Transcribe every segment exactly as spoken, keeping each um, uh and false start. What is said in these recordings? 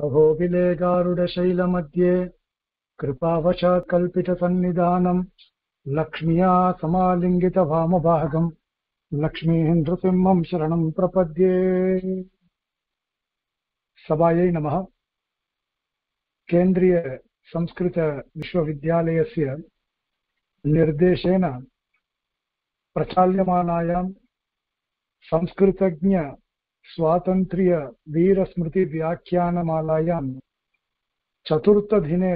अहोबिलेगारुडशैलमध्ये कृपावशात् कल्पितसन्निधानं लक्ष्म्या समालिङ्गितवामभागं लक्ष्मीं नृसिंहं शरणं प्रपद्ये। सभायै नमः। केन्द्रीय संस्कृत विश्वविद्यालयस्य निर्देशेन प्रचाल्यमानायां संस्कृतज्ञ स्वातन्त्र्य वीरस्मृति व्याख्यानमालायां चतुर्थदिने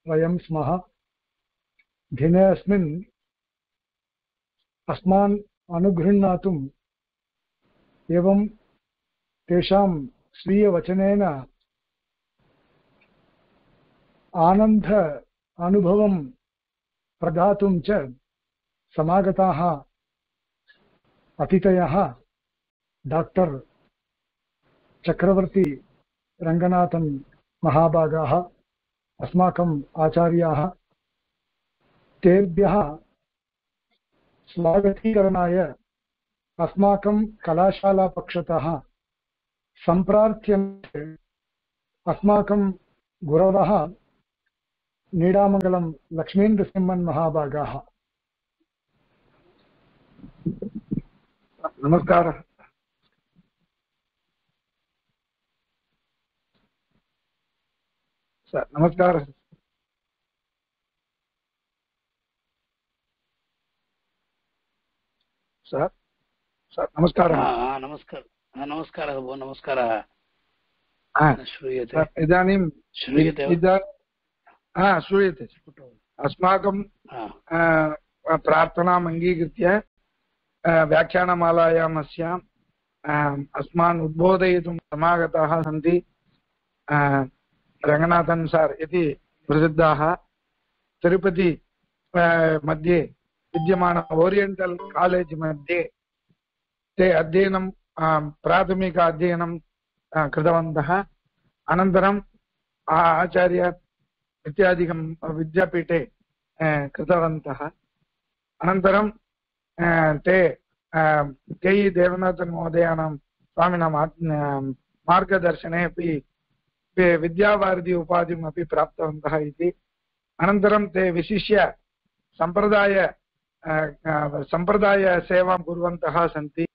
वयं स्मः। दिने अस्मिन् अस्मान् अनुगृह्णातुम् एवं तेषां स्वीयवचनेन आनन्द अनुभवं प्रदातुं च समागताः अतिथयः डॉक्टर चक्रवर्ती रंगनाथन महाभागाः अस्माकम् आचार्याः। तेभ्यः स्वागतीकरणाय अस्माकं कलाशाला पक्षतः सम्प्रार्थ्यन्ते अस्माकं गुरवः नीडामंगलं लक्ष्मीनृसिंहन् महाभागाः। नमस्कारः। सर नमस्कारः। सर सर नमस्कारः। नमस्कार नमस्कारः भो नमस्कारः। श्रूयते इदानीं श्रूयते हा श्रूयते। अस्माकं प्रार्थनाम् अङ्गीकृत्य व्याख्यानमालायाम् अस्याम् अस्मान् उद्बोधयितुं समागताः सन्ति रंगनाथन सार इति प्रसिद्धाः। तिरुपति मध्ये विद्यमान ओरियेंटल कॉलेज मध्ये ते अध्ययनं प्राथमिक अध्ययनं कृतवन्तः। अनन्तरं आचार्य इत्यादिकं विद्यापीठे कृतवन्तः। अनन्तरं ते के ई देवनाथन महोदयानां स्वामिनां मार्गदर्शने अपि विद्यावारिधि उपाधिम् अपि प्राप्तवन्तः इति। अनन्तरं ते विशिष्य संप्रदाय संप्रदाय सेवां कुर्वन्तः सन्ति।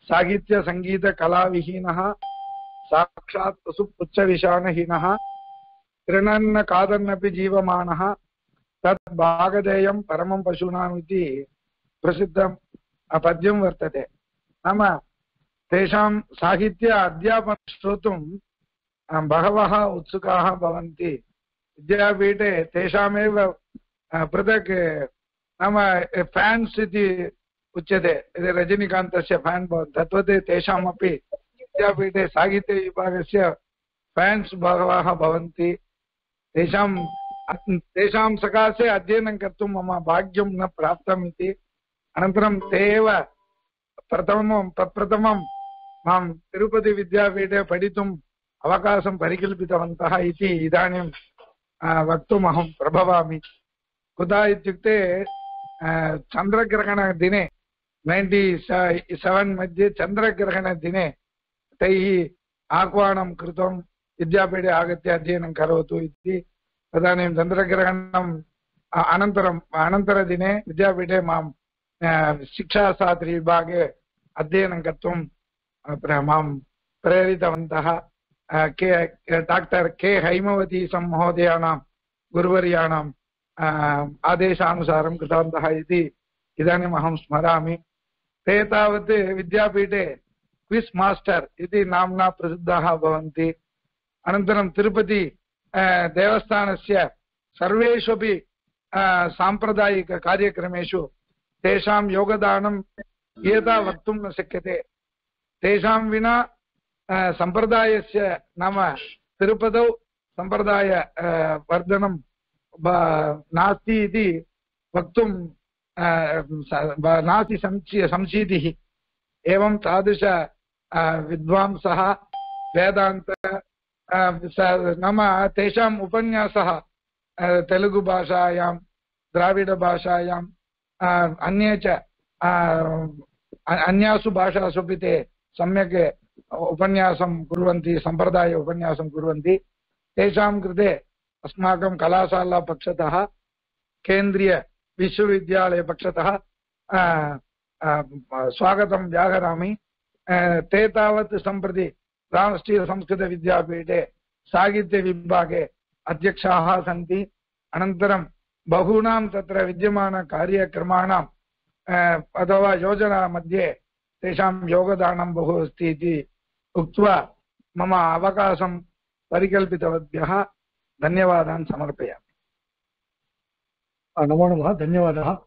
साहित्य संगीत कलाविहीनः साक्षात् पशुपुच्छविषाणहीनः तृणन्न कादन्नपि जीवमानः तत् भागधेयं परमं पशूनाम् इति प्रसिद्धं पद्यं वर्तते। नाम तेषां साहित्य अध्यापनं श्रोतुं बहवः उत्सुकाः भवन्ति। विद्यापीठे तेषामेव पृथक् नाम फैन्स् इति उच्यते। रजनीकान्तस्य फैन् भवति तद्वत् तेषामपि विद्यापीठे साहित्यविभागस्य फैन्स् बहवः भवन्ति। तेषां तेषां सकाशे अध्ययनं कर्तुं मम भाग्यं न प्राप्तम् इति। अनन्तरं ते एव प्रथमं प्रप्रथमं मां तिरुपति विद्यापीठे पठितुम् अवकाशं परिकल्पितवन्तः इति इदानीं वक्तुम् अहं प्रभवामि। कुतः इत्युक्ते चन्द्रग्रहणदिने नैन्टि सेवेन् मध्ये चन्द्रग्रहणदिने तैः आह्वानं कृतं विद्यापीठे आगत्य अध्ययनं करोतु इति। तदानीं चन्द्रग्रहणम् अनन्तरम् अनन्तरदिने विद्यापीठे मां शिक्षाशास्त्रविभागे अध्ययनं कर्तुं मां प्रेरितवन्तः। के डाक्टर् के हैमवती महोदयानां गुरुवर्याणाम् आदेशानुसारं कृतवन्तः इति इदानीम् अहं स्मरामि। ते तावत् विद्यापीठे क्विस् मास्टर् इति नाम्ना प्रसिद्धाः भवन्ति। अनन्तरं तिरुपति देवस्थानस्य सर्वेषु अपि साम्प्रदायिककार्यक्रमेषु तेषां योगदानं यथा वक्तुं न शक्यते। तेषां विना सम्प्रदायस्य नाम तिरुपतौ सम्प्रदाय वर्धनं नास्ति इति वक्तुं नास्ति संशीतिः। एवं तादृश विद्वांसः वेदान्त नाम तेषाम् उपन्यासः तेलुगु भाषायां द्राविड भाषायां अन्ये च अन्यासु भाषासु अपि ते सम्यक् उपन्यासं कुर्वन्ति, सम्प्रदाय उपन्यासं कुर्वन्ति, तेषां कृते अस्माकं कलाशालापक्षतः केन्द्रीयविश्वविद्यालयपक्षतः स्वागतं व्याहरामि। ते तावत् सम्प्रति राष्ट्रीयसंस्कृतविद्यापीठे साहित्यविभागे अध्यक्षाः सन्ति। अनन्तरं बहूनां तत्र विद्यमानकार्यक्रमाणाम् अथवा योजना मध्ये तेषां योगदानं बहु अस्ति इति उक्त्वा मम अवकाशं परिकल्पितवद्भ्यः धन्यवादान् समर्पयामि। नमो नमः, धन्यवादः।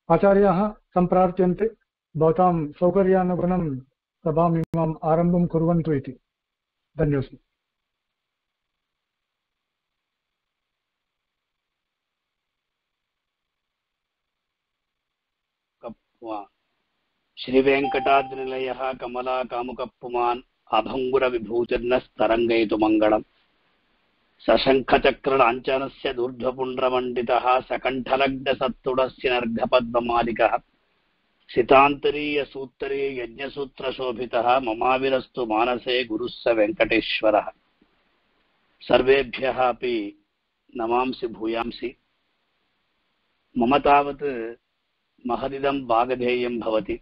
आचार्याः सम्प्रार्थ्यन्ते भवतां सौकर्यानुगुणं सभाम् इमाम् आरम्भं कुर्वन्तु इति। धन्योऽस्मि। श्रीवेङ्कटाद्रिनिलयः कमला कामुकप्पुमान् अभङ्गुरविभूतिर्नस्तरङ्गयतु मङ्गलम् सशङ्खचक्रलाञ्छनस्य दूर्ध्वपुण्ड्रमण्डितः सकण्ठलग्नसत्तुडस्य नर्घपद्ममालिकः सितान्तरीयसूत्तरी यज्ञसूत्रशोभितः ममाविरस्तु मानसे गुरुः स वेङ्कटेश्वरः। सर्वेभ्यः अपि नमांसि भूयांसि। मम तावत् महदिदं भागधेयं भवति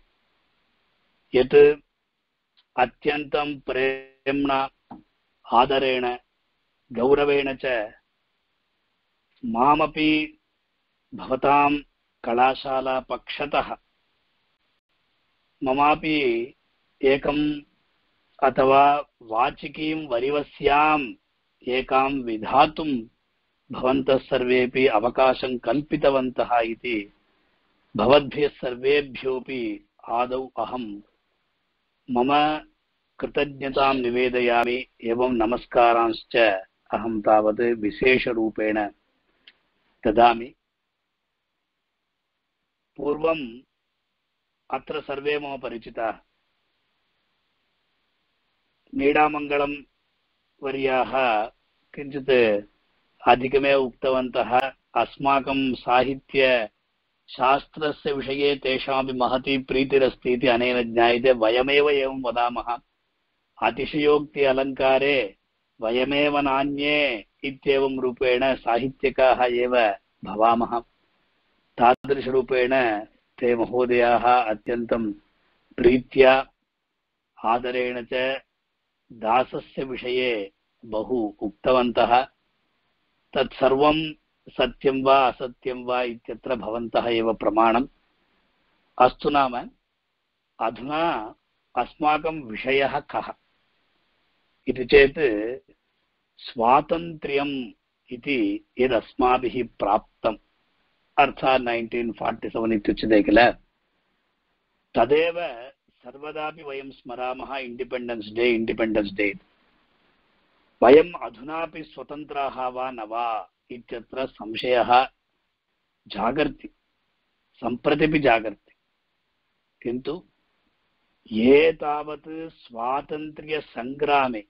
यत् अत्यन्तं प्रेम्णा आदरेण गौरवेण च मामपि भवतां कलाशाला पक्षतः ममापि एकम् अथवा वाचिकीं वरिवस्याम् एकां विधातुं भवन्तः सर्वेपि अवकाशं कल्पितवन्तः इति भवद्भ्यः सर्वेभ्योऽपि आदौ अहं मम कृतज्ञतां निवेदयामि एवं नमस्कारांश्च अहं तावत् विशेषरूपेण ददामि। पूर्वम् अत्र सर्वे मम परिचिताः। मीडामङ्गलं वर्याः किञ्चित् अधिकमेव उक्तवन्तः। अस्माकं साहित्य शास्त्रस्य विषये तेषामपि महती प्रीतिरस्ति इति अनेन ज्ञायते। वयमेव एवं वदामः, अतिशयोक्ति अलङ्कारे वयमेव नान्ये इत्येवं रूपेण साहित्यकाः एव भवामः। तादृशरूपेण ते महोदयाः अत्यन्तं प्रीत्या आदरेण च दासस्य विषये बहु उक्तवन्तः। तत्सर्वं सत्यं वा असत्यं वा इत्यत्र भवन्तः एव प्रमाणम्। अस्तु, नाम अधुना अस्माकं विषयः कः इति चेत् स्वातन्त्र्यम् इति यदस्माभिः प्राप्तम्, अर्थात् नैन्टीन् फार्टि सेवेन् इत्युच्यते किल, तदेव सर्वदापि वयं स्मरामः। इण्डिपेण्डेन्स् डे इण्डिपेण्डेन्स् डे। वयम् अधुनापि स्वतन्त्राः वा न वा इत्यत्र संशयः जागर्ति, सम्प्रतिपि जागर्ति। किन्तु ये तावत् स्वातन्त्र्यसङ्ग्रामे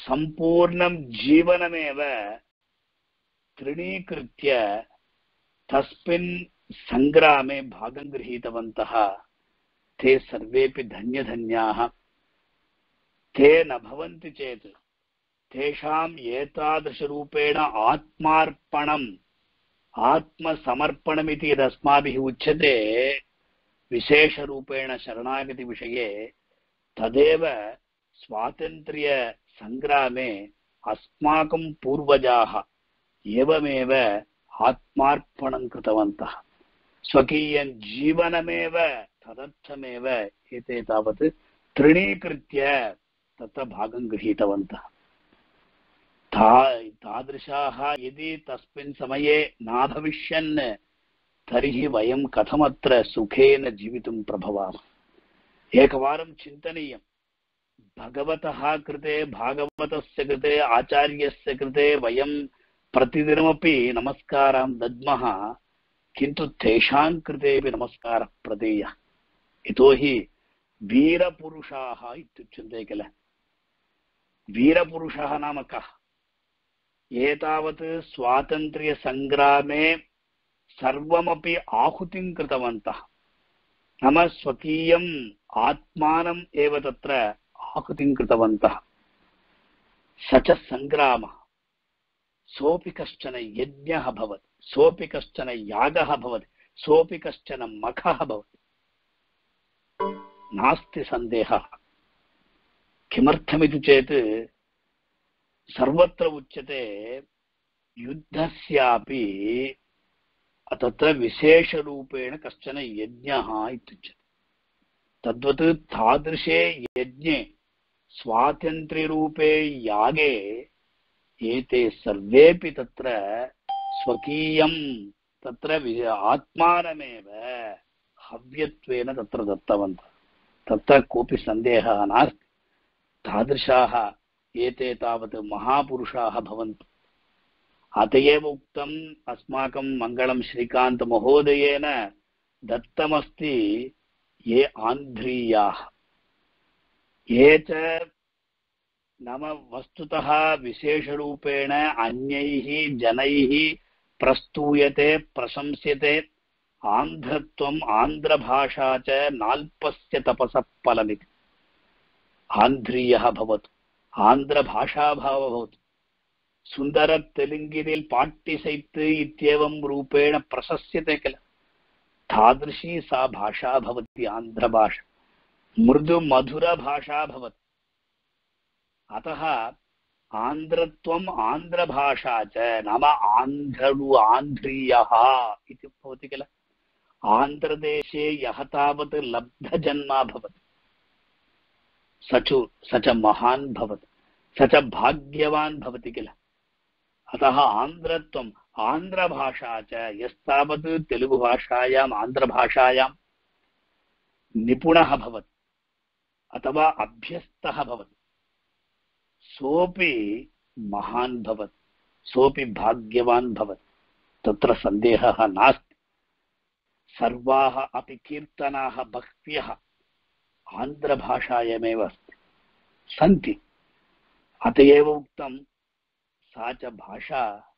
सम्पूर्णं जीवनमेव तृणीकृत्य तस्मिन् सङ्ग्रामे भागं गृहीतवन्तः, ते सर्वेपि धन्यधन्याः। ते न भवन्ति चेत् तेषाम् एतादृशरूपेण आत्मार्पणम् आत्मसमर्पणमिति यदस्माभिः उच्यते विशेषरूपेण शरणागतिविषये, तदेव स्वातन्त्र्यसङ्ग्रामे अस्माकं पूर्वजाः एवमेव आत्मार्पणं कृतवन्तः। स्वकीयं जीवनमेव तदर्थमेव एते तावत् तृणीकृत्य तत्र भागं गृहीतवन्तः। तादृशाः यदि तस्मिन् समये नाभविष्यन् तर्हि वयं कथमत्र सुखेन जीवितुं प्रभवामः। एकवारं चिन्तनीयं, भगवतः कृते, भागवतस्य कृते, आचार्यस्य कृते वयं प्रतिदिनमपि नमस्कारान् दद्मः, किन्तु तेषां कृतेपि नमस्कारः प्रदेयः। यतोहि वीरपुरुषाः इत्युच्यन्ते किल। वीरपुरुषः नाम कः? एतावत् स्वातन्त्र्यसङ्ग्रामे सर्वमपि आहुतिं कृतवन्तः। नाम स्वकीयम् आत्मानम् एव तत्र आहुतिं कृतवन्तः। स च सङ्ग्रामः, सोऽपि कश्चन यज्ञः भवति, सोऽपि कश्चन यागः भवति, सोऽपि कश्चन मखः भवति, नास्ति सन्देहः। किमर्थमिति चेत् सर्वत्र उच्यते युद्धस्यापि तत्र विशेषरूपेण कश्चन यज्ञः इत्युच्यते। तद्वत् तादृशे यज्ञे स्वातन्त्र्यरूपे यागे एते सर्वेपि तत्र स्वकीयं तत्र आत्मानमेव हव्यत्वेन तत्र दत्तवन्तः। तत्र कोऽपि सन्देहः नास्ति। तादृशाः एते तावत् महापुरुषाः भवन्ति। अत एव उक्तम् अस्माकं मङ्गलं श्रीकान्तमहोदयेन दत्तमस्ति ये आन्ध्रीयाः, ये च नाम वस्तुतः विशेषरूपेण अन्यैः जनैः प्रस्तूयते प्रशंस्यते। आन्ध्रत्वम् आन्ध्रभाषा च नाल्पस्य तपसः फलमिति। आन्ध्रीयः भवतु, आन्ध्रभाषाभावः भवतु, सुन्दर तेलुगिनिल् पाट्टिसैत् इत्येवं रूपेण प्रशस्यते किल, तादृशी सा भाषा भवति आन्ध्रभाषा। मृदु मधुरभाषा भवति। अतः आन्ध्रत्वम् आन्ध्रभाषा च नाम आन्ध्रु आन्ध्रीयः इति भवति किल। आन्ध्रदेशे यः तावत् लब्धजन्मा भवति स च स च महान् भवति, स च भाग्यवान् भवति किल। अतः आन्ध्रत्वम् आन्ध्रभाषा च यस्तावत् तेलुगुभाषायाम् आन्ध्रभाषायां निपुणः भवति अथवा अभ्यस्तः भवति सोऽपि महान् भवति, सोऽपि भाग्यवान् भवति। तत्र सन्देहः नास्ति। सर्वाः अपि कीर्तनाः बह्व्यः आन्ध्रभाषायामेव अस्ति सन्ति। अत एव उक्तं सा च भाषा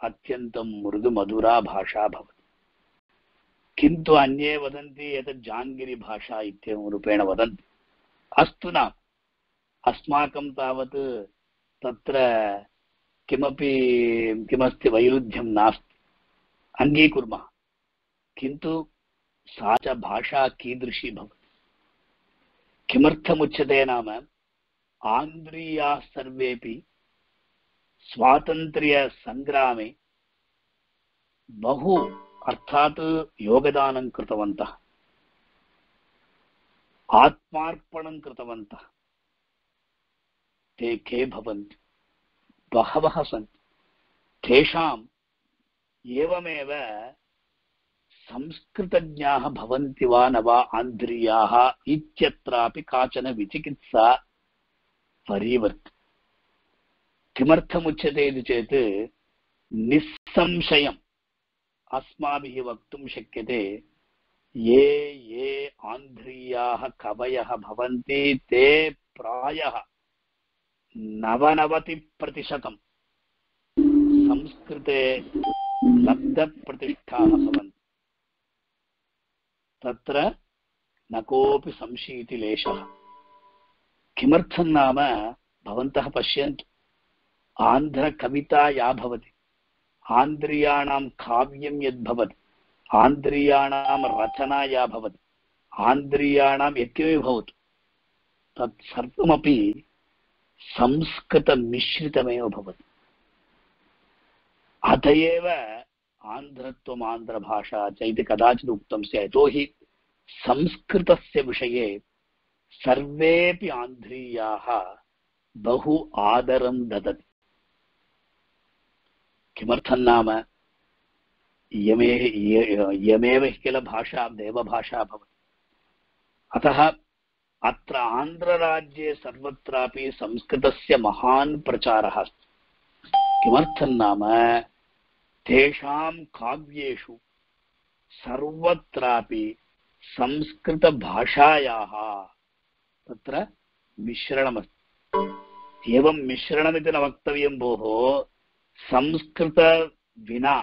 अत्यन्तं मृदुमधुरा भाषा भवति। किन्तु अन्ये वदन्ति एतत् जाङ्गिरिभाषा इत्येवं रूपेण वदन्ति। अस्तु न, अस्माकं तावत् तत्र किमपि किमस्ति वैरुध्यं नास्ति, अङ्गीकुर्मः। किन्तु सा च भाषा कीदृशी भवति? किमर्थमुच्यते नाम आन्ध्रीयाः सर्वेपि स्वातन्त्र्यसङ्ग्रामे बहु अर्थात् योगदानं कृतवन्तः, आत्मार्पणं कृतवन्तः। ते के भवन्ति? बहवः सन्ति। तेषाम् एवमेव संस्कृतज्ञाः भवन्ति वा न वा आन्ध्रीयाः इत्यत्रापि काचन विचिकित्सा परिवर्तते। किमर्थमुच्यते इति चेत् निस्संशयम् अस्माभिः वक्तुं शक्यते ये ये आन्ध्रीयाः कवयः भवन्ति ते प्रायः नवनवतिप्रतिशतं संस्कृते लब्धप्रतिष्ठाः भवन्ति। तत्र न कोऽपि संशयति लेशः। किमर्थं नाम भवन्तः पश्यन्तु, आन्ध्रकविता या भवति, आन्ध्रीयाणां काव्यं यद्भवति, आन्ध्रीयाणां रचना या भवति, आन्ध्रीयाणां यत्किमपि भवतु, तत् सर्वमपि संस्कृतमिश्रितमेव भवति। अत एव आन्ध्रत्वम् आन्ध्रभाषा च इति कदाचित् उक्तं स्यात्। यतोहि संस्कृतस्य विषये सर्वेपि आन्ध्रीयाः बहु आदरं ददति। किमर्थं नाम यमे यमेव किल भाषा देवभाषा भवति। अतः अत्र आन्ध्रराज्ये सर्वत्रापि संस्कृतस्य महान् प्रचारः अस्ति। किमर्थं नाम तेषां काव्येषु सर्वत्रापि संस्कृतभाषायाः तत्र मिश्रणमस्ति। एवं मिश्रणमिति न वक्तव्यं भोः, संस्कृत विना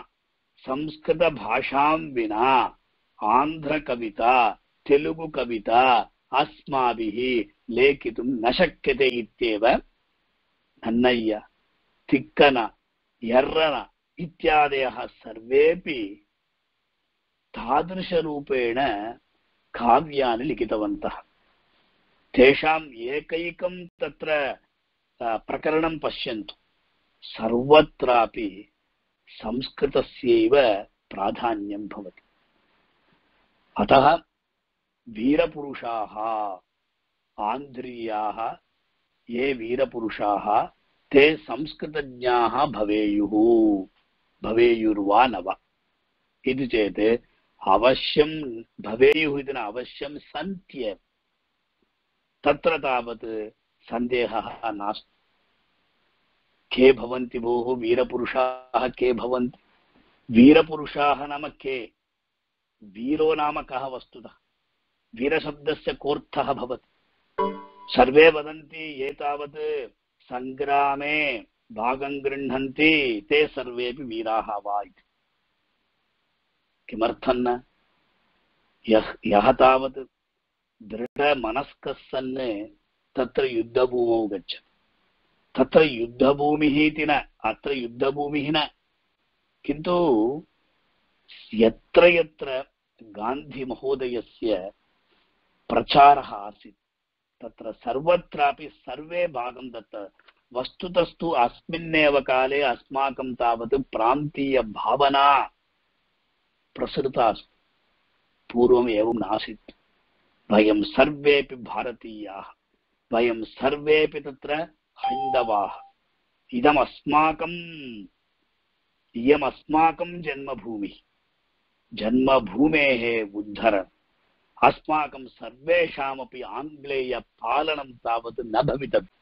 संस्कृतभाषां विना आन्ध्रकविता, तेलुगु कविता अस्माभिः लेखितुं न शक्यते इत्येव नन्नय्य, तिक्कन, यर्रन इत्यादयः सर्वेपि तादृशरूपेण काव्यानि लिखितवन्तः। तेषाम् एकैकं तत्र प्रकरणं पश्यन्तु, सर्वत्रापि संस्कृतस्यैव प्राधान्यं भवति। अतः वीरपुरुषाः आन्ध्रीयाः ये वीरपुरुषाः ते संस्कृतज्ञाः भवेयुः भवेयुर्वा न वा इति चेत् अवश्यं भवेयुः इति न, अवश्यं सन्त्येव, तत्र तावत् सन्देहः नास्ति। के भवन्ति भोः वीरपुरुषाः? के भवन्ति वीरपुरुषाः? नाम के? वीरो नाम कः वस्तुतः? वीरशब्दस्य कोऽर्थः भवति? सर्वे वदन्ति ये तावत् सङ्ग्रामे भागं गृह्णन्ति ते सर्वेपि वीराः वा इति। किमर्थं न? यः यः तावत् दृढमनस्कः सन् तत्र युद्धभूमौ गच्छति। तत्र युद्धभूमिः इति न, अत्र युद्धभूमिः न, किन्तु यत्र यत्र गान्धिमहोदयस्य प्रचारः आसीत् तत्र सर्वत्रापि सर्वे भागं दत्त। वस्तुतस्तु अस्मिन्नेव काले अस्माकं तावत् प्रान्तीयभावना प्रसृता अस्ति। पूर्वम् एवं नासीत्। वयं सर्वेपि भारतीयाः, वयं सर्वेपि तत्र हैन्दवाः, इदम् अस्माकम् इयम् अस्माकं जन्मभूमिः। जन्मभूमेः उद्धरणम् अस्माकं सर्वेषामपि आङ्ग्लेयपालनं तावत् न भवितव्यम्।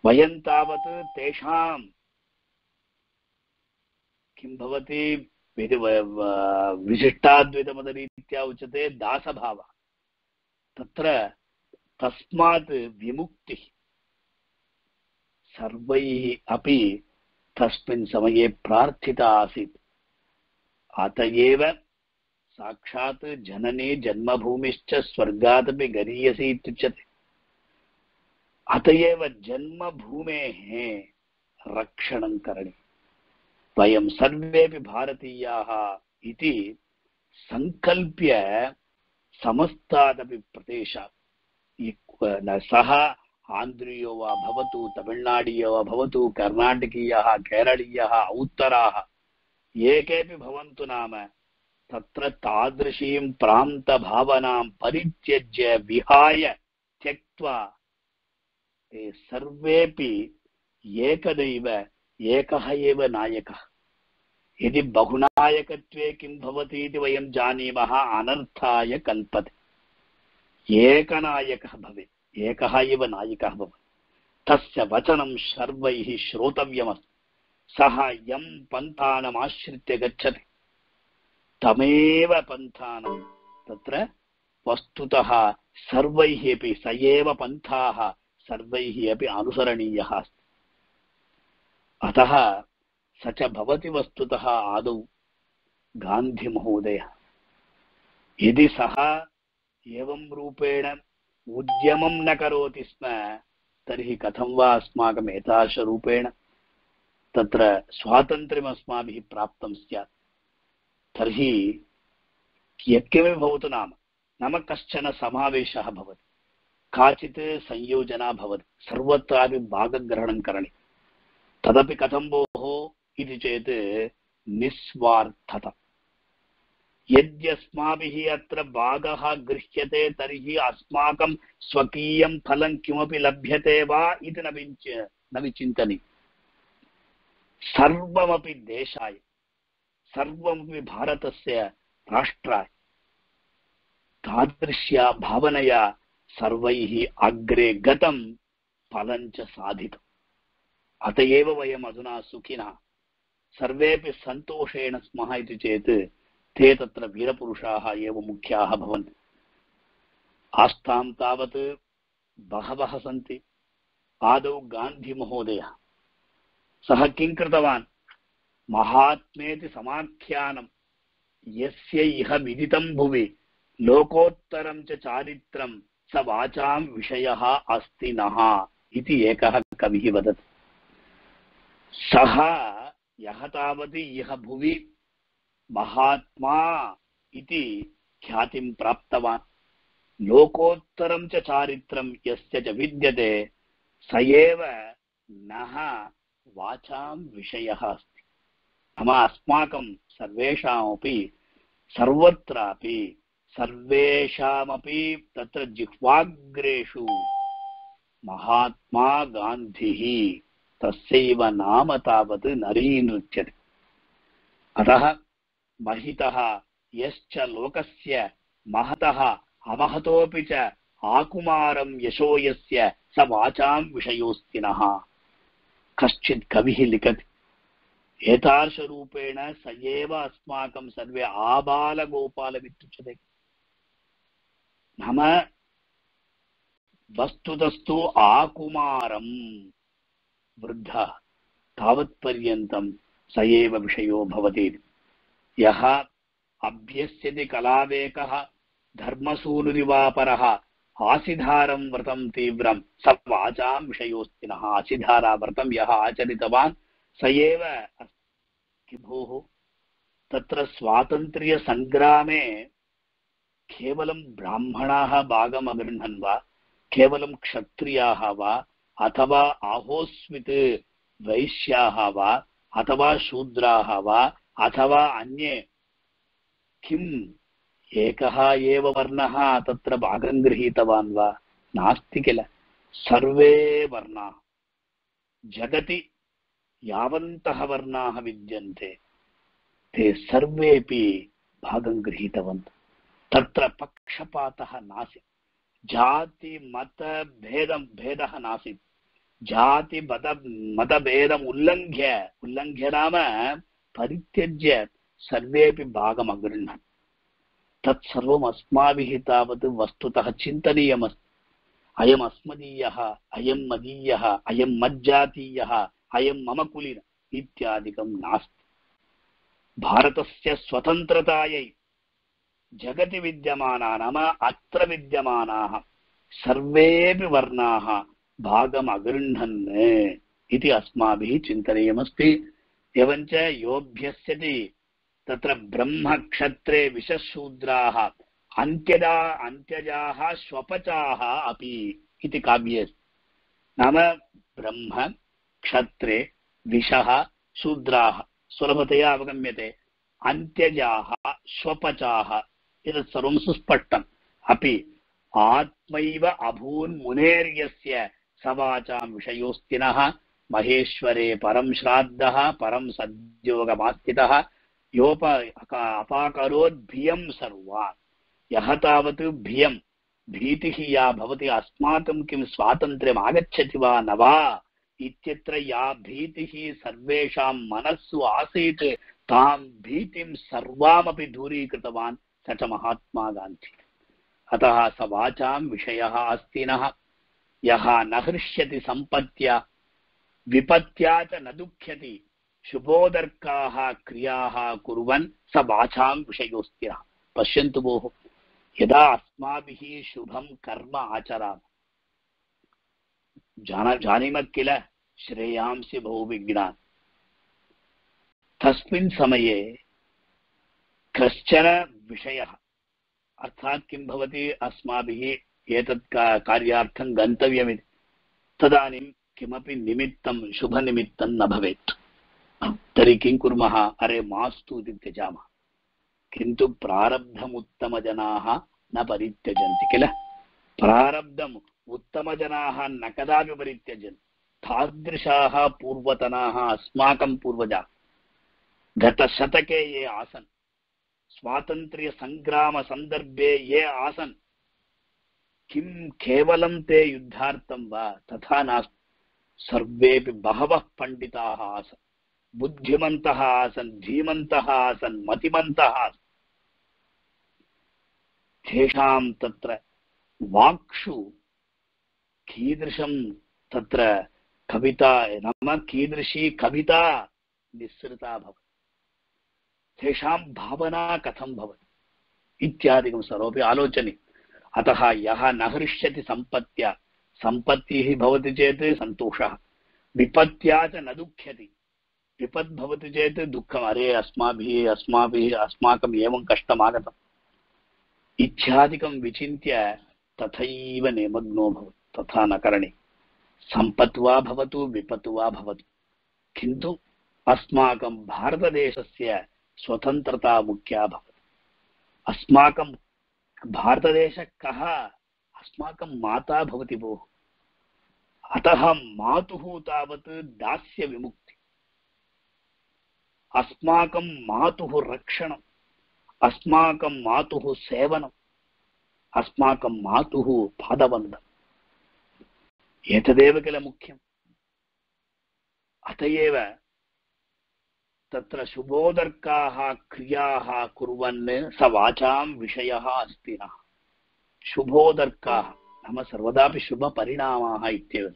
वयं तावत् तेषां किं भवति विशिष्टाद्वैतमतरीत्या उच्यते दासभावः। तत्र तस्मात् विमुक्तिः सर्वैः अपि तस्मिन् समये प्रार्थिता आसीत्। अत एव साक्षात् जननी जन्मभूमिश्च स्वर्गादपि गरीयसी इत्युच्यते। अत एव जन्मभूमेः रक्षणं करणीयम्। वयं सर्वेपि भारतीयाः इति सङ्कल्प्य समस्तादपि प्रदेशात्, सः आन्ध्रीयो वा भवतु, तमिळ्नाडीयो वा भवतु, कर्णाटकीयः, केरळीयः, उत्तराः ये केऽपि भवन्तु, नाम तत्र तादृशीं प्रान्तभावनां परित्यज्य विहाय त्यक्त्वा ते सर्वेपि एकदैव एकः एव नायकः। यदि बहुनायकत्वे किं भवति इति वयं जानीमः, अनर्थाय कल्पते। एकनायकः भवेत्, एकः एव नायकः भवेत्। तस्य वचनं सर्वैः श्रोतव्यमस्ति। सः यं पन्थानम् आश्रित्य गच्छति तमेव पन्थानं तत्र वस्तुतः सर्वैः अपि स एव पन्थाः सर्वैः अपि अनुसरणीयः अस्ति। अतः स च भवति वस्तुतः आदौ गान्धिमहोदयः। यदि सः एवं रूपेण उद्यमं न करोति स्म तर्हि कथं वा अस्माकम् एतादृशरूपेण तत्र स्वातन्त्र्यम् अस्माभिः प्राप्तं स्यात्। तर्हि यत्किमपि भवतु, नाम नाम कश्चन समावेशः भवति, काचित् संयोजना भवति, सर्वत्रापि भागग्रहणं करणीयम्। तदपि कथं भोः इति चेत् निस्वार्थता। यद्यस्माभिः अत्र भागः गृह्यते तर्हि अस्माकं स्वकीयं फलं किमपि लभ्यते वा इति न विच न विचिन्तनीयम्। सर्वमपि देशाय, सर्वमपि भारतस्य राष्ट्राय तादृश्या भावनया सर्वैः अग्रे गतं, फलं च साधितम्। अत एव वयम् अधुना सुखिनः सर्वेपि सन्तोषेण स्मः इति चेत् ते तत्र वीरपुरुषाः एव मुख्याः भवन्ति। आस्थां तावत् बहवः सन्ति। आदौ गान्धिमहोदयः, सः किं कृतवान्? महात्मेति समाख्यानं यस्य इह विदितं भुवि लोकोत्तरं च चारित्रं स वाचां विषयः अस्ति नः इति एकः कविः वदति। सः यः तावत् इह भुवि महात्मा इति ख्यातिं प्राप्तवान्, लोकोत्तरं च चारित्रं यस्य च विद्यते स एव नः वाचां विषयः अस्ति। नाम अस्माकं सर्वेषामपि सर्वत्रापि सर्वेषामपि तत्र जिह्वाग्रेषु महात्मा गान्धिः तस्यैव नाम तावत् नरीनृत्यते। अतः महितः यश्च लोकस्य महतः अमहतोऽपि च आकुमारं यशो यस्य स वाचां विषयोऽस्ति नः। कश्चित् कविः लिखति एतादृशरूपेण स एव अस्माकं सर्वे आबालगोपालमित्युच्यते। नाम वस्तुतस्तु आकुमारं वृद्धः तावत्पर्यन्तं स एव विषयो भवति। यः अभ्यस्यति कलावेकः धर्मसूनुरिवापरः आसिधारं व्रतं तीव्रं स वाचां विषयोऽस्ति नः। आसिधारा व्रतं यः आचरितवान् स एव अस्ति। भोः, तत्र स्वातन्त्र्यसङ्ग्रामे केवलं ब्राह्मणाः भागम् अगृह्णन् वा, केवलं क्षत्रियाः वा, अथवा आहोस्वित् वैश्याः वा, अथवा शूद्राः वा, अथवा अन्ये किम् एकः एव वर्णः तत्र भागं गृहीतवान् वा? नास्ति किल। सर्वे वर्णाः जगति यावन्तः वर्णाः विद्यन्ते ते सर्वेपि भागं गृहीतवन्तः। तत्र पक्षपातः नासीत्, जाति मत भेदं भेदः नासीत्। जाति मत मतभेदम् उल्लङ्घ्य उल्लङ्घ्य नाम परित्यज्य सर्वेपि भागम् अगृह्णन्। तत्सर्वम् अस्माभिः तावत् वस्तुतः चिन्तनीयमस्ति। अयम् अस्मदीयः, अयं मदीयः, अयं मज्जातीयः, अयं मम कुलीन इत्यादिकं नास्ति। भारतस्य स्वतन्त्रतायै जगति विद्यमानाः नाम अत्र विद्यमानाः सर्वेपि वर्णाः भागम् अगृह्णन् इति अस्माभिः चिन्तनीयमस्ति। एवञ्च योऽभ्यस्यति तत्र ब्रह्मक्षत्रे विशशूद्राः अन्त्यजा अन्त्यजाः स्वपचाः अपि इति काव्ये नाम ब्रह्म क्षत्रे विशः शूद्राः सुलभतया अवगम्यते, अन्त्यजाः स्वपचाः एतत् सर्वं सुस्पष्टम्। अपि आत्मैव अभून् मुनेर्यस्य सवाचां विषयोऽस्ति नः। महेश्वरे परं श्राद्धः परं सद्योगमास्थितः योप अपाकरोद्भियं सर्वान्। यः तावत् भियं भीतिः या भवति अस्माकं किं स्वातन्त्र्यम् आगच्छति वा न वा इत्यत्र या भीतिः सर्वेषां मनस्सु आसीत् तां भीतिं सर्वामपि दूरीकृतवान् स च महात्मा गान्धी। अतः स वाचां विषयः अस्ति नः। यः न हृष्यति सम्पत्या विपत्या च न दुःख्यति शुभोदर्काः क्रियाः कुर्वन् स वाचां विषयोऽस्ति नः। पश्यन्तु भोः, यदा अस्माभिः शुभं कर्म आचरामः जान जानीमः किल श्रेयांसि बहुविघ्नान्, तस्मिन् समये कश्चन विषयः अर्थात् किं भवति अस्माभिः एतत् कार्यार्थं गन्तव्यमिति तदानीं किमपि निमित्तं शुभनिमित्तं न भवेत्। तर्हि किं कुर्मः? अरे मास्तु इति त्यजामः। किन्तु प्रारब्धमुत्तमजनाः न परित्यजन्ति किल। प्रारब्धम् उत्तमजनाः न कदापि परित्यजन्ति। तादृशाः पूर्वतनाः अस्माकं पूर्वजाः गतशतके ये आसन्, स्वातन्त्र्यसङ्ग्रामसन्दर्भे ये आसन्, किं केवलं ते युद्धार्थं वा? तथा नास्ति। सर्वेपि बहवः पण्डिताः आसन्, बुद्धिमन्तः आसन्, धीमन्तः आसन्, मतिमन्तः आसन्। तेषां तत्र वाक्षु कीदृशं तत्र कविता नाम कीदृशी कविता निःसृता भवति, तेषां भावना कथं भवति इत्यादिकं सर्वमपि आलोचनीयम्। अतः यः न हृष्यति सम्पत्त्या, सम्पत्तिः भवति चेत् सन्तोषः, विपत्त्या च न दुःख्यति, विपत् भवति चेत् दुःखम्, अरे अस्माभिः अस्माभिः अस्माकम् एवं कष्टम् आगतम् इत्यादिकं विचिन्त्य तथैव निमग्नो भवति। तथा न करणीयम्। सम्पत् वा भवतु विपत् वा भवतु, किन्तु अस्माकं भारतदेशस्य स्वतन्त्रता मुख्या भवति। अस्माकं भारतदेशः कः? अस्माकं माता भवति भोः। अतः मातुः तावत् दास्य विमुक्ति, अस्माकं मातुः रक्षणम्, अस्माकं मातुः सेवनम्, अस्माकं मातुः पादवन्दनम्, एतदेव किल मुख्यम्। अत एव तत्र शुभोदर्काः क्रियाः कुर्वन् स वाचां विषयः अस्ति नः। शुभोदर्काः नाम सर्वदापि शुभपरिणामाः इत्येव।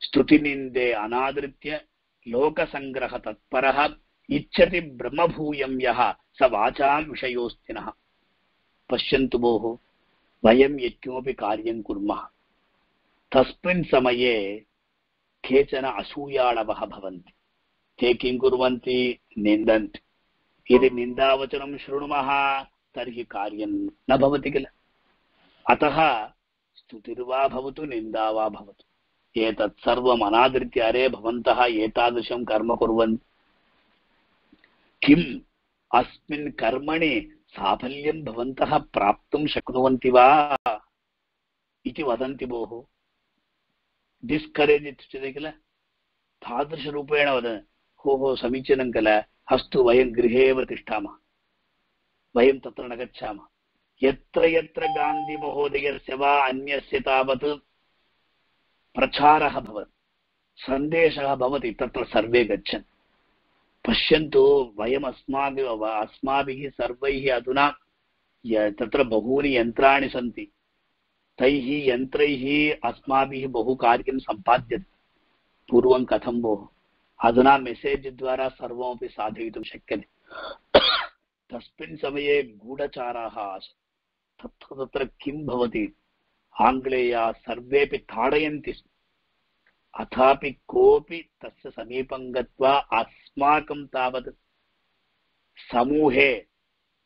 स्तुतिनिन्दे अनादृत्य लोकसङ्ग्रह तत्परः इच्छति ब्रह्मभूयं यः स वाचां विषयोऽस्ति नः। पश्यन्तु भोः, वयं यत्किमपि कार्यं कुर्मः तस्मिन् समये केचन असूयाळवः भवन्ति। ते किं कुर्वन्ति? निन्दन्ति। यदि निन्दावचनं शृणुमः तर्हि कार्यं न भवति किल। अतः स्तुतिर्वा भवतु निन्दा वा भवतु, एतत् सर्वम् अनादृत्य अरे भवन्तः एतादृशं कर्म कुर्वन्ति, किम् अस्मिन् कर्मणि साफल्यं भवन्तः प्राप्तुं शक्नुवन्ति वा इति वदन्ति भोः। डिस्करेज् इत्युच्यते किल। तादृशरूपेण वदन् हो हो समीचीनं किल, अस्तु वयं गृहे एव तिष्ठामः, वयं तत्र न गच्छामः। यत्र यत्र गान्धिमहोदयस्य वा अन्यस्य तावत् प्रचारः भवति, सन्देशः भवति, तत्र सर्वे गच्छन्। पश्यन्तु, वयम् अस्माभिः अस्माभिः सर्वैः अधुना तत्र बहूनि यन्त्राणि सन्ति, तैः यन्त्रैः अस्माभिः बहु कार्यं सम्पाद्यते। पूर्वं कथं भोः? अधुना मेसेज् द्वारा सर्वमपि साधयितुं शक्यते। तस्मिन् समये गूढचाराः आसन्। तत्र तत्र किं भवति? आङ्ग्लेयाः सर्वेपि ताडयन्ति स्म, अथापि कोऽपि तस्य समीपं गत्वा अस्माकं तावत् समूहे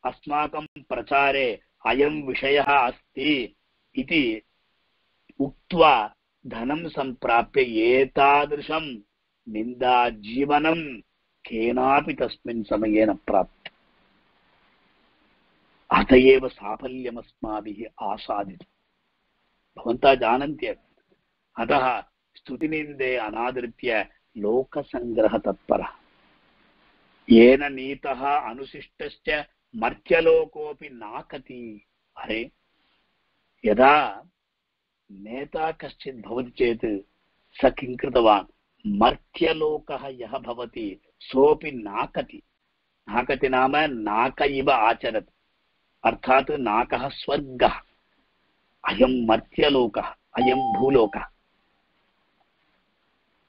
अस्माकं प्रचारे अयं विषयः अस्ति इति उक्त्वा धनं सम्प्राप्य एतादृशं निन्दाजीवनं केनापि तस्मिन् समये न प्राप्तम्। अत एव साफल्यमस्माभिः आसादितम्। भवन्तः जानन्त्येव। अतः स्तुतिनिन्दे अनादृत्य लोकसङ्ग्रहतत्परः, येन नीतः अनुशिष्टश्च मर्त्यलोकोऽपि नाकति। अरे, यदा नेता कश्चित् भवति चेत् स किं कृतवान्? मर्त्यलोकः यः भवति सोऽपि नाकति। नाकति नाम नाक इव आचरति, अर्थात् नाकः स्वर्गः, अयं मर्त्यलोकः, अयं भूलोकः।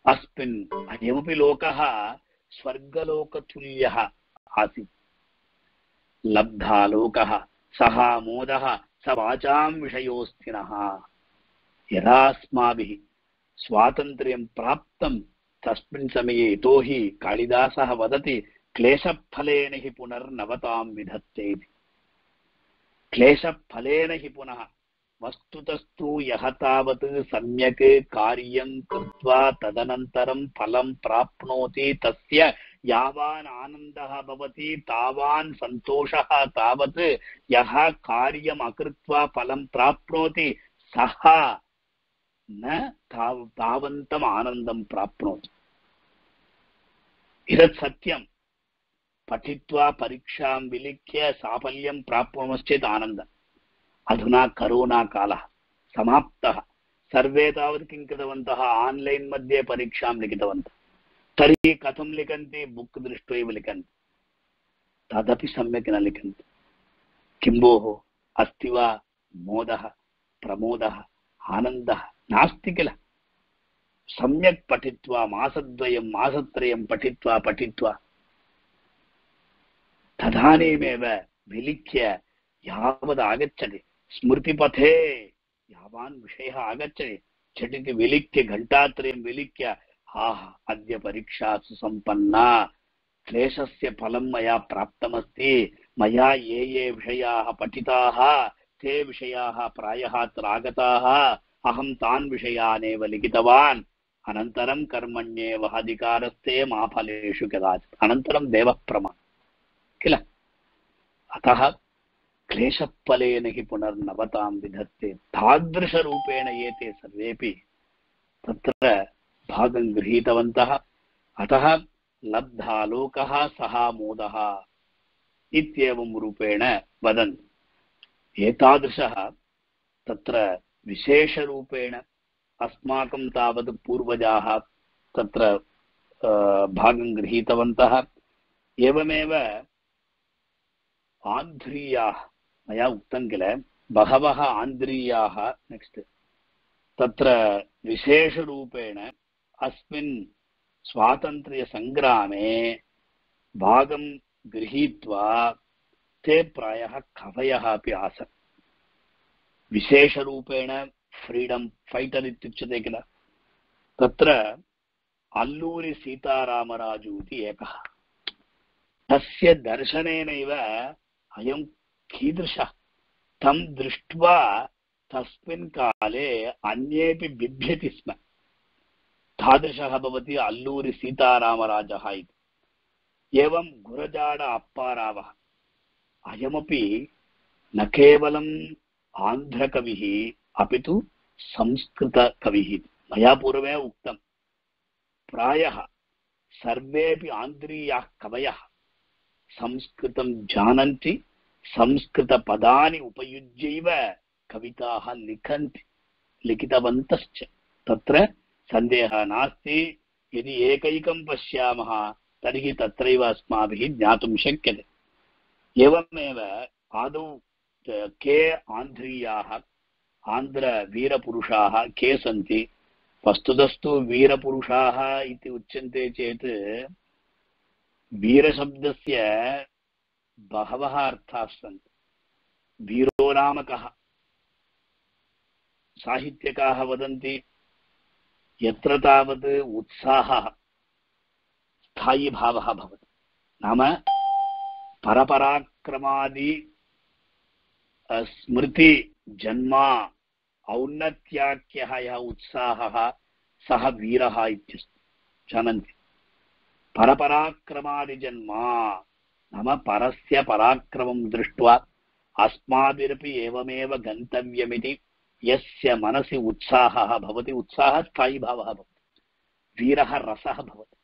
अस्मिन् अयमपि लोकः स्वर्गलोकतुल्यः आसीत्। लब्धा लोकः सः मोदः स वाचां विषयोऽस्ति नः। यदा अस्माभिः स्वातन्त्र्यं प्राप्तं तस्मिन् समये, यतोहि कालिदासः वदति क्लेशफलेन हि पुनर्नवतां विधत्ते इति। क्लेशफलेन हि पुनः, वस्तुतस्तु यः तावत् सम्यक् कार्यं कृत्वा तदनन्तरं फलं प्राप्नोति तस्य यावान् आनन्दः भवति तावान् सन्तोषः तावत् यः कार्यम् अकृत्वा फलं प्राप्नोति सः न तावन्तम् आनन्दं प्राप्नोति। इदत् सत्यं। पठित्वा परीक्षां विलिख्य साफल्यं प्राप्नुमश्चेत् आनन्दम्। अधुना करोना कालः समाप्तः, सर्वे तावत् किं कृतवन्तः? आन्लैन् मध्ये परीक्षां लिखितवन्तः। तर्हि कथं लिखन्ति? बुक् दृष्ट्वा एव लिखन्ति, तदपि सम्यक् न लिखन्ति। किं भोः, अस्ति वा मोदः, प्रमोदः, आनन्दः? नास्ति किल। सम्यक् पठित्वा मासद्वयं मासत्रयं पठित्वा पठित्वा तदानीमेव विलिख्य यावद् आगच्छति स्मृतिपथे यावान् विषयः आगच्छति झटिति विलिख्य घण्टात्रयं विलिख्य आह अद्य परीक्षा सुसम्पन्ना क्लेशस्य फलं मया प्राप्तमस्ति मया ये ये विषयाः पठिताः ते विषयाः प्रायः अत्र आगताः अहं तान् विषयानेव लिखितवान् अनन्तरं कर्मण्येव अधिकारस्ते मा फलेषु कदाचित् अनन्तरं देवः प्रमाणः किल अतः क्लेशफलेन हि पुनर्नवतां विधत्ते तादृशरूपेण एते सर्वेपि तत्र भागं गृहीतवन्तः अतः लब्धालोकः सः मोदः इत्येवं रूपेण वदन्ति एतादृशः तत्र विशेषरूपेण अस्माकं तावत् पूर्वजाः तत्र भागं गृहीतवन्तः एवमेव आन्ध्रीयाः मया उक्तं किल बहवः आन्ध्रीयाः नेक्स्ट् तत्र विशेषरूपेण अस्मिन् स्वातन्त्र्यसङ्ग्रामे भागं गृहीत्वा ते प्रायः कवयः अपि आसन् विशेषरूपेण फ्रीडम फैटर् इत्युच्यते किल तत्र अल्लूरि सीतारामराजु इति एकः तस्य दर्शनेनैव अयं कीदृशः तं दृष्ट्वा तस्मिन् काले अन्येपि बिभ्यति स्म तादृशः भवति अल्लूरि सीतारामराजः इति एवं गुरजाड अप्पारावः अयमपि न केवलम् आन्ध्रकविः अपि तु संस्कृतकविः मया पूर्वमेव उक्तं प्रायः सर्वेपि आन्ध्रीयाः कवयः संस्कृतं जानन्ति संस्कृतपदानि उपयुज्यैव कविताः लिखन्ति लिखितवन्तश्च तत्र सन्देहः नास्ति यदि एकैकं पश्यामः तर्हि तत्रैव अस्माभिः ज्ञातुं शक्यते एवमेव आदौ के आन्ध्रीयाः आन्ध्रवीरपुरुषाः के सन्ति वस्तुतस्तु वीरपुरुषाः इति उच्यन्ते चेत् वीरशब्दस्य बहवः अर्थाः सन्ति वीरो नाम कः साहित्यकाः वदन्ति यत्र तावत् उत्साहः स्थायी भावः भवति नाम परपराक्रमादि स्मृति जन्मा औन्नत्याख्यः यः उत्साहः सः वीरः इत्यस्ति जानन्ति परपराक्रमादिजन्मा नाम परस्य पराक्रमं दृष्ट्वा अस्माभिरपि एवमेव गन्तव्यमिति यस्य मनसि उत्साहः भवति उत्साहः स्थायी भावः भवति वीरः रसः भवति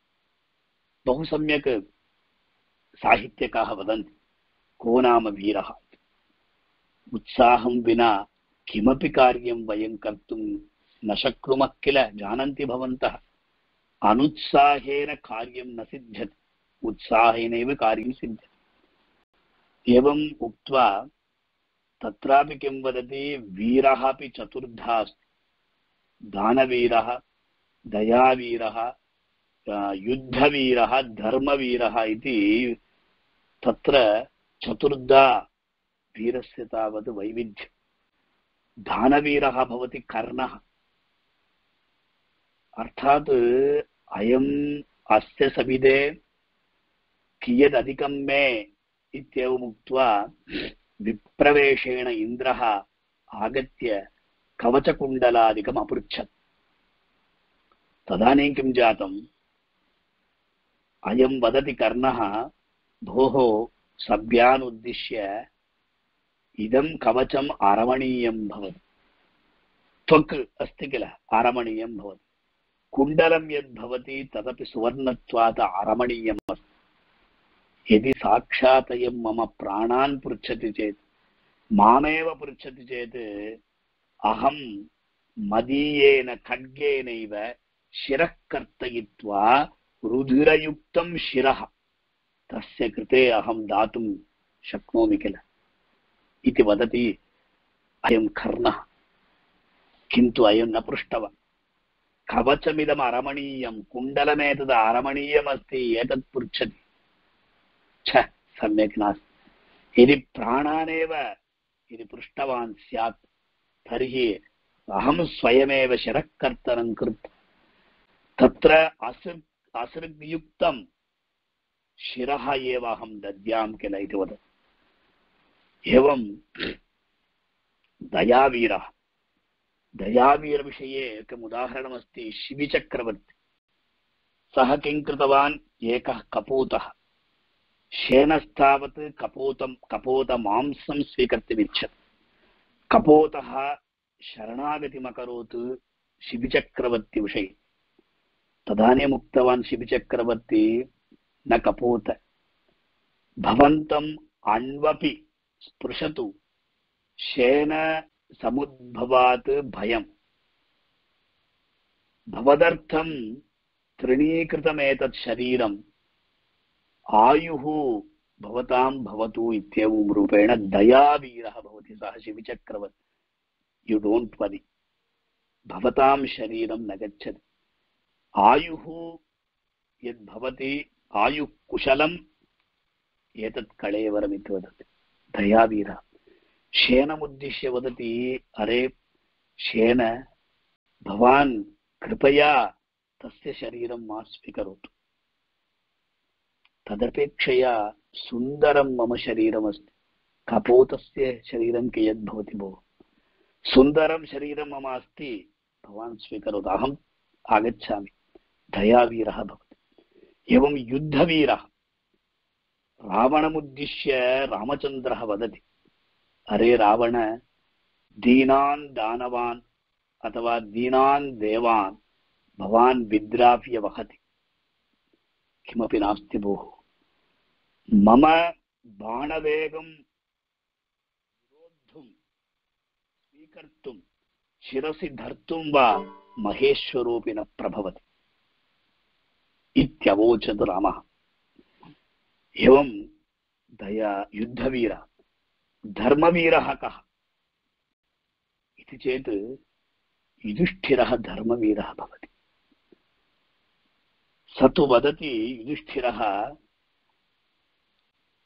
बहु सम्यक् साहित्यकाः वदन्ति को नाम वीरः उत्साहं विना किमपि कार्यं वयं कर्तुं न शक्नुमः किल जानन्ति भवन्तः अनुत्साहेन कार्यं न सिद्ध्यति उत्साहेनैव कार्यं सिद्ध्यति एवम् उक्त्वा तत्रापि किं वदति वीरः अपि चतुर्धा अस्ति दानवीरः दयावीरः युद्धवीरः धर्मवीरः इति तत्र चतुर्धा वीरस्य तावत् वैविध्यं दानवीरः भवति कर्णः अर्थात् अयम् अस्य सविदे कियदधिकं मे इत्येवमुक्त्वा विप्रवेशेण इन्द्रः आगत्य कवचकुण्डलादिकम् अपृच्छत् तदानीं किं जातम् अयं वदति कर्णः भोः सभ्यान् उद्दिश्य इदं कवचम् आरमणीयं भवति त्वक् अस्ति किल आरमणीयं भवति कुण्डलं यद् भवति तदपि सुवर्णत्वात् आरमणीयम् अस्ति यदि साक्षात् अयं मम प्राणान् पृच्छति चेत् मामेव पृच्छति चेत् अहं मदीयेन खड्गेनैव शिरः कर्तयित्वा रुधिरयुक्तं शिरः तस्य कृते अहं दातुं शक्नोमि किल इति वदति अयं कर्णः किन्तु अयं न पृष्टवान् कवचमिदम् अरमणीयं कुण्डलमेतद् अरमणीयमस्ति एतत् पृच्छति छ सम्यक् नास्ति यदि प्राणानेव इति पृष्टवान् स्यात् तर्हि अहं स्वयमेव शिरःकर्तनं कृत्वा तत्र असृ असृग्युक्तं शिरः एव अहं दद्यां किल इति वदति। एवं दयावीरः दयावीरविषये एकम् उदाहरणमस्ति। शिबिचक्रवर्ती सः किं कृतवान्, एकः कपोतः शेनस्तावत् कपोतं कपोतमांसं स्वीकर्तुमिच्छति। कपोतः शरणागतिमकरोत् शिबिचक्रवर्ती विषये। तदानीम् उक्तवान् शिबिचक्रवर्ती, न कपोत, भवन्तम् अन्वपि स्पृशतु शेन समुद्भवात् भयम्, भवदर्थं तृणीकृतमेतत् शरीरम् आयुः भवतां भवतु इत्येवं रूपेण दयावीरः भवति सः शिबिचक्रवर्ती। यु डोंट वरी, भवतां शरीरं न गच्छति, आयुः यद् भवति आयुः कुशलम् एतत् कळेवरम् इति वदति दयावीरः। शेनमुद्दिश्य वदति, अरे शेन, भवान् कृपया तस्य शरीरं मा स्वीकरोतु, तदपेक्षया सुन्दरं मम शरीरमस्ति, कपोतस्य शरीरं कियत् भवति भोः, सुन्दरं शरीरं मम अस्ति, भवान् स्वीकरोतु, अहम् आगच्छामि। दयावीरः भवति। एवं युद्धवीरः रावणमुद्दिश्य रामचन्द्रः वदति, अरे रावण, दीनान् दानवान् अथवा दीनान् देवान् भवान् विद्राव्य वहति, किमपि नास्ति भोः, मम बाणवेगं विरोद्धुं स्वीकर्तुं शिरसि धर्तुं वा महेश्वरोऽपि न प्रभवति इत्यवोचत् रामः। एवं दया युद्धवीरः। धर्मवीरः कः इति चेत् युधिष्ठिरः धर्मवीरः भवति। स तु वदति युधिष्ठिरः,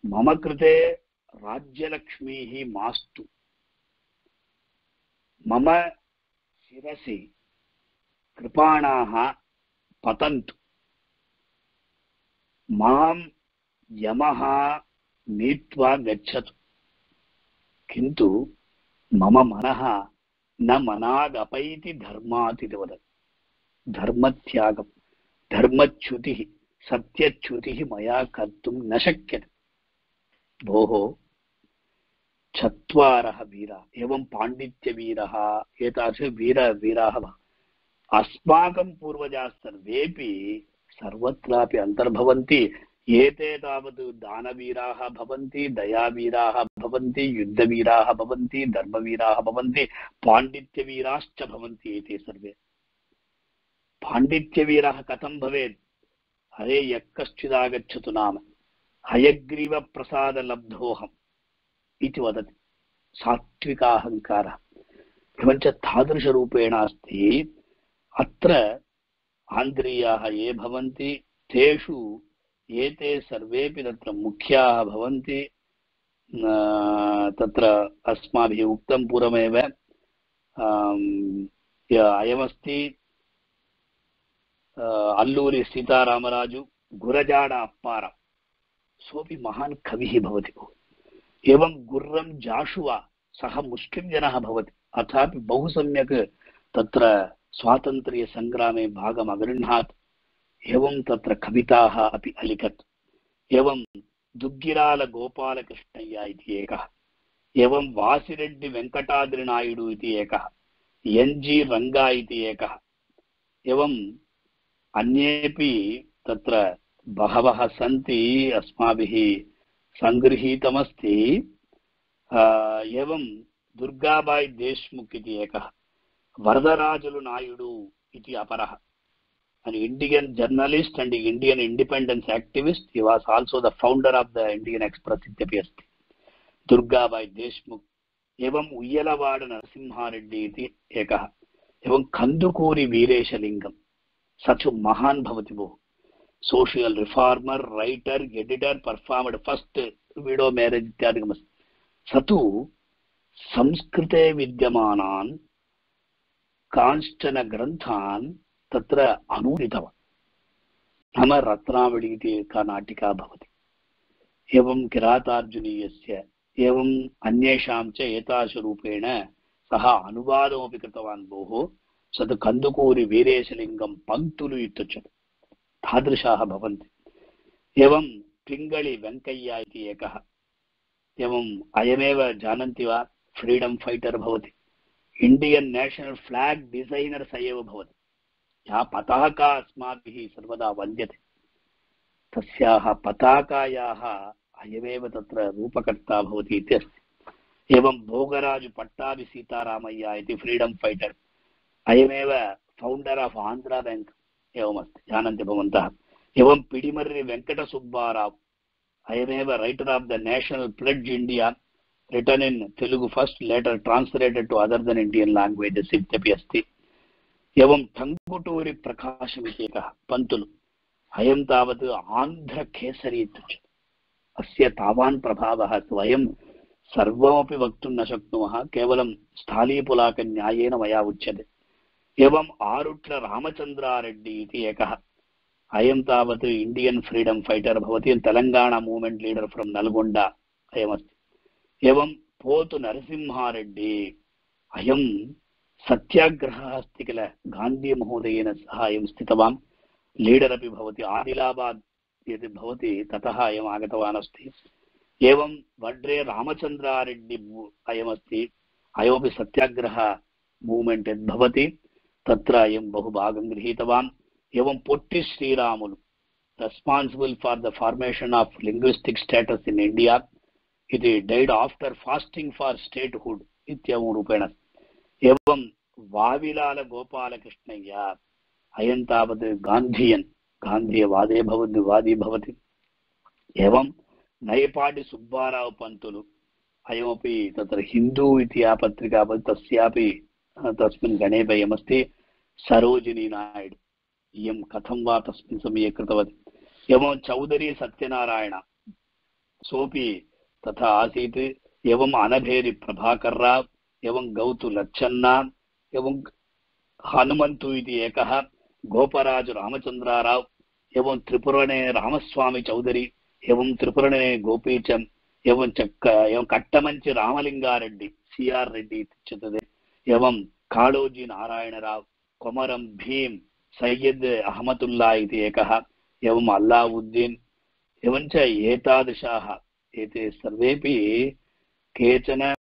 मम कृते राज्यलक्ष्मीः मास्तु, मम शिरसि कृपाणाः पतन्तु, मां यमः नीत्वा गच्छतु, किन्तु मम मनः न मनागपैति धर्मात् इति वदति। धर्मत्यागं, धर्मच्युतिः, सत्यच्युतिः मया कर्तुं न शक्यते भोः। चत्वारः वीराः, एवं पाण्डित्यवीरः, एतादृश वीर वीराः अस्माकं पूर्वजाः सर्वेपि सर्वत्रापि अन्तर्भवन्ति। एते तावत् दानवीराः भवन्ति, दयावीराः भवन्ति, युद्धवीराः भवन्ति, धर्मवीराः भवन्ति, पाण्डित्यवीराश्च भवन्ति। एते सर्वे पाण्डित्यवीरः कथं भवेत्? हरे यः कश्चिदागच्छतु नाम हयग्रीवप्रसादलब्धोऽहम् इति वदति, सात्विकाहङ्कारः। एवञ्च तादृशरूपेण अस्ति। अत्र आन्ध्रीयाः ये भवन्ति तेषु एते सर्वेपि तत्र मुख्याः भवन्ति। तत्र अस्माभिः उक्तं पूर्वमेव, अयमस्ति अल्लूरि सीतारामराजु गुरजाड अप्पार, सोऽपि महान् कविः भवति। एवं गुर्रं जाशुवा, सः मुस्लिं जनः भवति, अथापि बहु सम्यक् तत्र स्वातन्त्र्यसङ्ग्रामे भागम् अगृह्णात्। एवं तत्र कविताः अपि अलिखत्। एवं दुग्गिराल गोपालकृष्णय्य इति एकः, एवं वासिरेड्डि वेङ्कटाद्रिनायडु इति एकः, एन् जि रङ्गा इति एकः, एवं अन्येपि तत्र बहवः सन्ति, अस्माभिः सङ्गृहीतमस्ति। एवं दुर्गाबाई देशमुख इति एकः, वरदराजुलु नायडु इति अपरः, an Indian journalist and Indian independence activist. He was also the founder of the Indian Express इत्यपि अस्ति, दुर्गाबाई देशमुख। एवं उय्यलवाड नरसिंहारेड्डी इति एकः, एवं कन्दुकूरि वीरेशलिङ्गं, स च महान् भवति भोः, social reformer, writer, editor, performed first window marriage इत्यादिकमस्ति। स तु संस्कृते विद्यमानान् कांश्चन ग्रन्थान् तत्र अनूदितवान्। नाम रत्नावली इति एका नाटिका भवति, एवं किरातार्जुनीयस्य, एवम् अन्येषां च एतादृशरूपेण सः अनुवादमपि कृतवान्। भोः सद् कन्दुकूरि वीरेशलिङ्गं पङ्क्तुलु इत्युच्यते, तादृशाः भवन्ति। एवं पिङ्गळि वेङ्कय्य इति एकः, एवम् अयमेव जानन्ति वा, फ्रीडम् फैटर् भवति, इण्डियन् नेशनल् फ्लाग् डिसैनर् स एव भवति। या पताका अस्माभिः सर्वदा वन्द्यते, तस्याः पताकायाः अयमेव तत्र रूपकर्ता भवति इति अस्ति। एवं भोगराजु पट्टाभि सीतारामय्य इति फ्रीडम् फैटर्, अयमेव फौण्डर् आफ् आन्ध्रा बेङ्क् एवमस्ति, जानन्ति भवन्तः। एवं पिडिमर्रि वेङ्कटसुब्बाराव्, अयमेव writer of the national pledge India, written in Telugu first, later translated to other then Indian languages इत्यपि अस्ति। एवं टङ्गुटूरि प्रकाशम् इति एकः पन्तुलु, अयं तावत् आन्ध्रकेसरी इत्युच्यते। अस्य तावान् प्रभावः वयं सर्वमपि वक्तुं न शक्नुमः, केवलं स्थालीपुलाकन्यायेन मया उच्यते। एवम् आरुट्ल रामचन्द्रारेड्डी इति एकः, अयं तावत् इण्डियन् फ्रीडम् फैटर् भवति, Telangana movement leader from Nalgonda अयमस्ति। एवं पोतु नरसिंहारेड्डी, अयं सत्याग्रहः अस्ति किल, गान्धीमहोदयेन सह अयं स्थितवान्, लीडर् अपि भवति। आदिलाबाद् यदि भवति ततः अयम् आगतवान् अस्ति। एवं वड्रे रामचन्द्रारेड्डी अयमस्ति, अयमपि सत्याग्रह मूव्मेण्ट् यद् भवति तत्र अयं बहु भागं गृहीतवान्। एवं Potti Sriramulu, responsible for the formation of linguistic states in India इति, डैड् आफ्टर् फास्टिङ्ग् फार् स्टेट्हुड् इत्येवं रूपेण। एवं वाविलाल गोपालकृष्णय्य, अयं तावत् गान्धियन्, गान्धीयवादे भवति, वादी भवति। एवं नयपाडि सुब्बाराव् पन्तुलु, अयमपि तत्र हिन्दू इति या पत्रिका भवति तस्यापि तस्मिन् गणे वयमस्ति। सरोजिनी नायडु, इयं कथं वा तस्मिन् समये कृतवती। एवं चौधरी सत्यनारायण, सोपि तथा आसीत्। एवम् अनभेरि प्रभाकर राव्, एवं गौतु लच्छन्ना, एवं हनुमन्तु इति एकः, गोपराजु रामचन्द्राराव्, एवं त्रिपुरणे रामस्वामी चौधरी, एवं त्रिपुरणे गोपीचन्द्, एवं च एवं कट्टमञ्चि रामलिंगारेड्डी, सी आर् रेड्डी इत्युच्यते। एवं काळोजी नारायणराव्, कोमरं भीम्, सैयद् अहमदुल्ला इति एकः, एवम् अल्लाउद्दीन्, एवञ्च एतादृशाः एते सर्वेपि केचन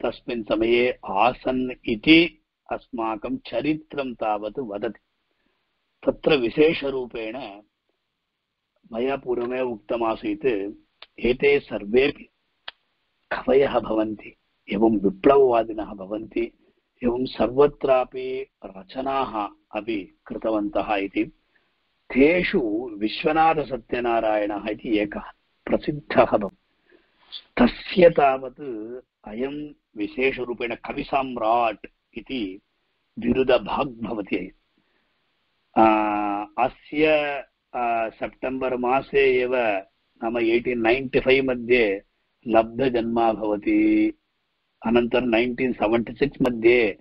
तस्मिन् समये आसन् इति अस्माकं चरित्रं तावत् वदति। तत्र विशेषरूपेण मया पूर्वमेव उक्तमासीत्, एते सर्वेपि कवयः भवन्ति, एवं विप्लववादिनः भवन्ति, एवं सर्वत्रापि रचनाः अपि कृतवन्तः इति। तेषु विश्वनाथसत्यनारायणः इति एकः प्रसिद्धः भवति। तस्य तावत् अयं विशेषरूपेण कविसाम्राट् इति बिरुदभाग् भवति। अस्य सेप्टेम्बर् मासे एव, नाम एय्टीन् नैन्टि फैव् मध्ये लब्धजन्मा भवति। अनन्तरं नैन्टीन् सेवेण्टि सिक्स् मध्ये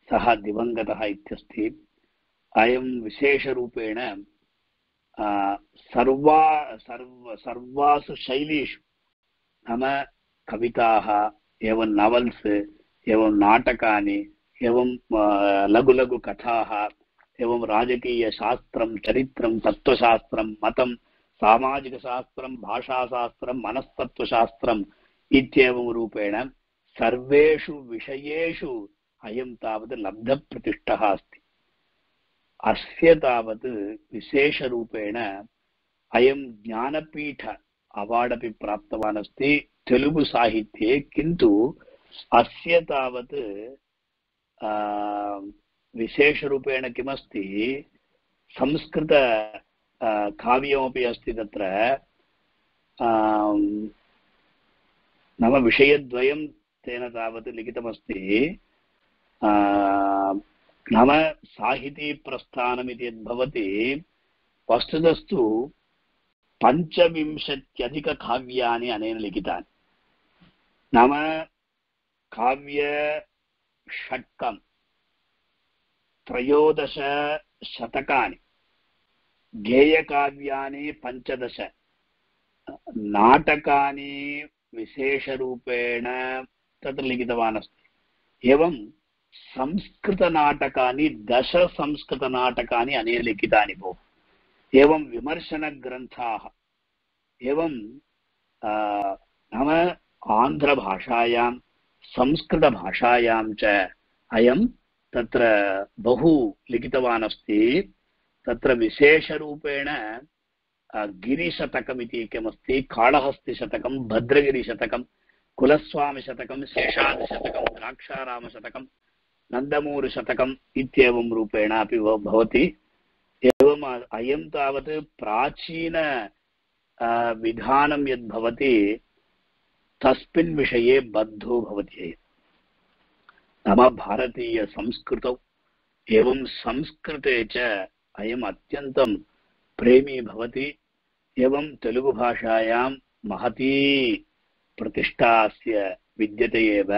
सः दिवङ्गतः इत्यस्ति। अयं विशेषरूपेण सर्वा सर्व सर्वासु शैलीषु, नाम कविताः, एवं नवल्स्, एवं नाटकानि, एवं लघु लघु कथाः, एवं राजकीयशास्त्रं, चरित्रं, तत्त्वशास्त्रं, मतं, सामाजिकशास्त्रं, भाषाशास्त्रं, मनस्तत्त्वशास्त्रम् इत्येवं रूपेण सर्वेषु विषयेषु अयं तावत् लब्धप्रतिष्ठः अस्ति। अस्य तावत् विशेषरूपेण अयं ज्ञानपीठ अवार्ड् अपि प्राप्तवान् अस्ति तेलुगु साहित्ये। किन्तु अस्य तावत् विशेषरूपेण किमस्ति, संस्कृत काव्यमपि अस्ति तत्र, नाम विषयद्वयं तेन तावत् लिखितमस्ति। नाम साहितीप्रस्थानमिति यद्भवति, वस्तुतस्तु पञ्चविंशत्यधिककाव्यानि अनेन लिखितानि। नाम काव्यषट्कं त्रयोदश शतकानि, गेयकाव्यानि पञ्चदश, नाटकानि विशेषरूपेण तत्र लिखितवान् अस्ति। एवं संस्कृतनाटकानि दश संस्कृतनाटकानि अनेन लिखितानि भोः। एवं विमर्शनग्रन्थाः, एवं नाम आन्ध्रभाषायां संस्कृतभाषायां च अयं तत्र बहु लिखितवान् अस्ति। तत्र विशेषरूपेण गिरिशतकमिति एकमस्ति, काळहस्तिशतकं, भद्रगिरिशतकं, कुलस्वामिशतकं, शेषाद्रिशतकं, द्राक्षारामशतकं, नन्दमूरुशतकम् इत्येवं रूपेण अपि भवति। एवम् अयं तावत् प्राचीन विधानं यद् भवति तस्मिन् विषये बद्धो भवति। नाम भारतीयसंस्कृतौ एवं संस्कृते च अयम् अत्यन्तं प्रेमी भवति। एवं तेलुगुभाषायां महती प्रतिष्ठा अस्य विद्यते एव।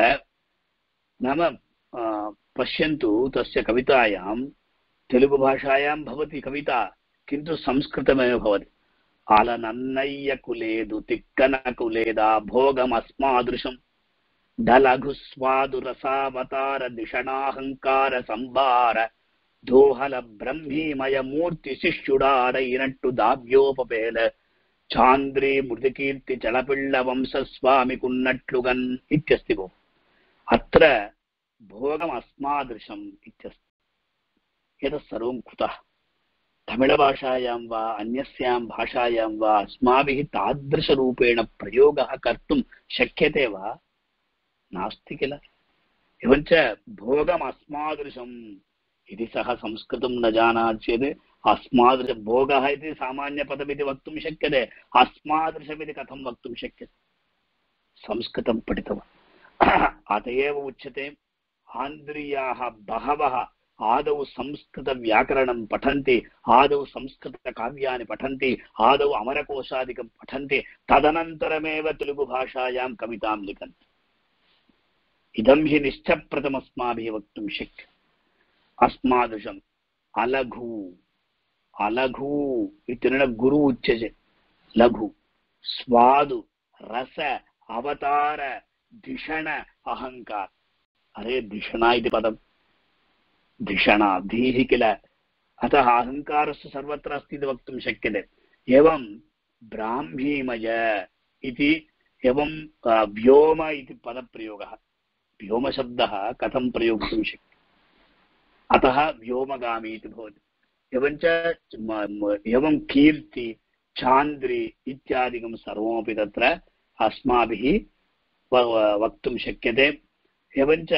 नाम पश्यन्तु, तस्य कवितायां तेलुगुभाषायां भवति कविता, किन्तु संस्कृतमेव भवति। आलनन्नय्यकुलेदु तिक्कनकुलेदा भोगमस्मादृशं डलघुस्वादुरसावतार दिषणाहंकार संभार दोहल ब्रह्मीमय मूर्ति शिष्युडार इनट्टु दाव्योपपेल चांद्री मृदकीर्ति चलपिल्ल वंशस्वामि कुन्नट्लुगन् इत्यस्ति भो। अत्र भोगमस्मादृशम् इत्यस्ति। एतत् सर्वं कुतः? तमिळभाषायां वा अन्यस्यां भाषायां वा अस्माभिः तादृशरूपेण प्रयोगः कर्तुं शक्यते वा? नास्ति किल। एवञ्च भोगमस्मादृशम् इति सः संस्कृतं न जानाति चेत् अस्मादृश भोगः इति सामान्यपदमिति वक्तुं शक्यते, अस्मादृशमिति कथं वक्तुं शक्यते? संस्कृतं पठितवान्। अत एव उच्यते आन्ध्रीयाः बहवः आदौ संस्कृतव्याकरणं पठन्ति, आदौ संस्कृतकाव्यानि पठन्ति, आदौ अमरकोशादिकं पठन्ति, तदनन्तरमेव तेलुगुभाषायां कवितां लिखन्ति। इदं हि निश्चप्रतमस्माभिः वक्तुं शक्यते। अस्मादृशम् अलघु अलघु इत्यनेन गुरु उच्यते। लघु स्वादु रस अवतार धिषण अहंकार। अरे धिषणा इति पदं धिषणा धीः किल, अतः अहंकारस्य सर्वत्र अस्ति इति वक्तुं शक्यते। एवं ब्राह्मीमय इति, एवं व्योम इति पदप्रयोगः। व्योमशब्दः कथं प्रयोक्तुं शक्यते? अतः व्योमगामी इति भवति। एवञ्च एवं कीर्ति चान्द्री इत्यादिकं सर्वमपि तत्र अस्माभिः वक्तुं शक्यते। एवञ्च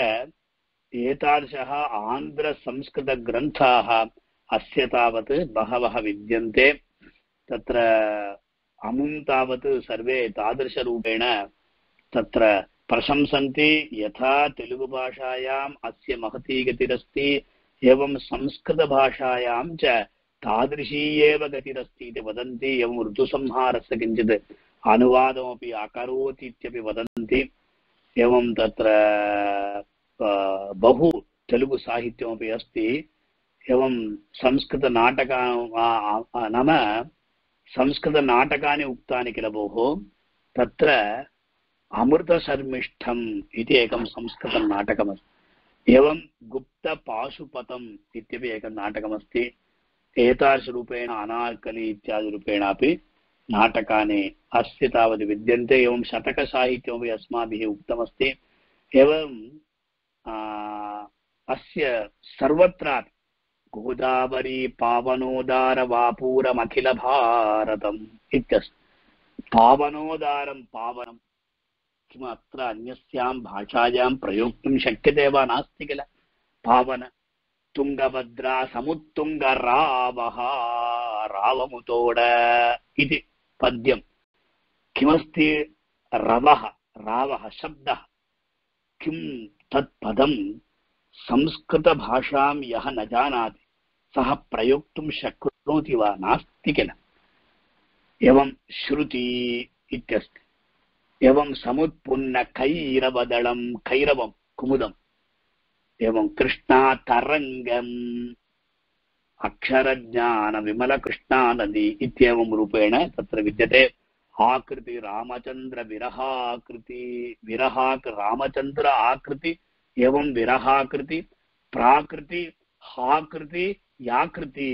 एतादृशः आन्ध्रसंस्कृतग्रन्थाः अस्य तावत् बहवः विद्यन्ते। तत्र अमुं तावत् सर्वे तादृशरूपेण तत्र प्रशंसन्ति। यथा तेलुगुभाषायाम् अस्य महती गतिरस्ति, एवं संस्कृतभाषायां च तादृशी एव गतिरस्ति इति वदन्ति। एवं ऋतुसंहारस्य किञ्चित् अनुवादमपि अकरोत् इत्यपि वदन्ति। एवं तत्र बहु तेलुगुसाहित्यमपि अस्ति। एवं संस्कृतनाटका नाम संस्कृतनाटकानि उक्तानि किल भोः। तत्र अमृतशर्मिष्ठम् इति एकं संस्कृतं नाटकमस्ति। एवं गुप्तपाशुपतम् इत्यपि एकं नाटकमस्ति। एतादृशरूपेण अनार्कली इत्यादिरूपेणापि नाटकानि अस्य तावत् विद्यन्ते। एवं शतकसाहित्यमपि अस्माभिः उक्तमस्ति। एवं अस्य सर्वत्रापि गोदावरी पावनोदार वापूरमखिल भारतम् इत्यस्ति। पावनोदारं पावनं किम् अत्र अन्यस्यां भाषायां प्रयोक्तुं शक्यते वा? नास्ति किल। पावन तुङ्गभद्रा समुत्तुङ्गरावः रावमुतोड इति पद्यं। किमस्ति रवः? रावः शब्दः। किं तत् पदं संस्कृतभाषां यः न जानाति सः प्रयोक्तुं शक्नोति वा? नास्ति किल। एवं श्रुति इत्यस्ति। एवं समुत्पुन्न कैरवदलं कैरवं कुमुदम् एवं कृष्णातरङ्गम् अक्षरज्ञान विमल कृष्णा नदी इत्येवं रूपेण तत्र विद्यते। आकृति रामचंद्र विरहाकृति विरहाक रामचंद्र आकृति एवं विरहाकृति प्राकृति हाकृति याकृति